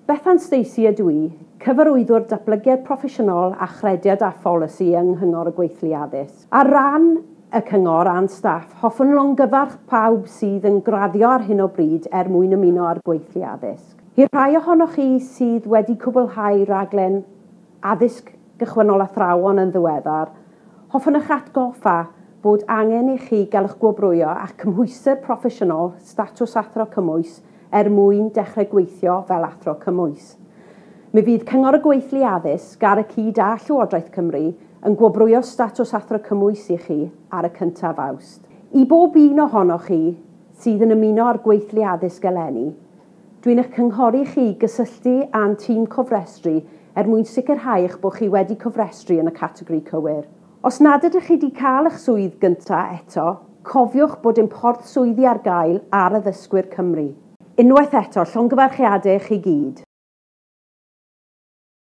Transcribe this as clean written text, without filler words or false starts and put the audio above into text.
Bethan Stacey ydw i, cyfarwyddwr datblygiad proffesiynol a chrediad a pholisi yng Nghyngor y Gweithlu Addysg. Ar ran y cyngor a'n staff, hoffwn longyfarch pawb sydd yn graddio ar hyn o bryd er mwyn ymuno â'r gweithlu addysg. I'r rhai ohonoch chi sydd wedi cwblhau raglen addysg gychwynnol athrawon yn ddiweddar, hoffwn eich atgoffa bod angen i chi gael eich gwobrwyo a'ch cymhwyster proffesiynol statws athro cymwys er mwyn dechrau gweithio fel athro cymwys. Mi fydd Cyngor y Gweithlu Addysg ar y cyd â Llywodraeth Cymru yn gwobrwyo statws athro cymwys i chi ar y 1 Awst. I bob un ohonoch chi sydd yn ymuno â'r gweithlu addysg eleni, dwi'n eich cynghori chi gysylltu â'n tîm cofrestru er mwyn sicrhau eich bod chi wedi cofrestru yn y categori cywir. Os nad ydych chi wedi cael eich swydd gyntaf eto, cofiwch bod ein porth swyddi ar gael ar Addysgwyr Cymru. Unwaith eto, llongyfarchiadau i chi gyd.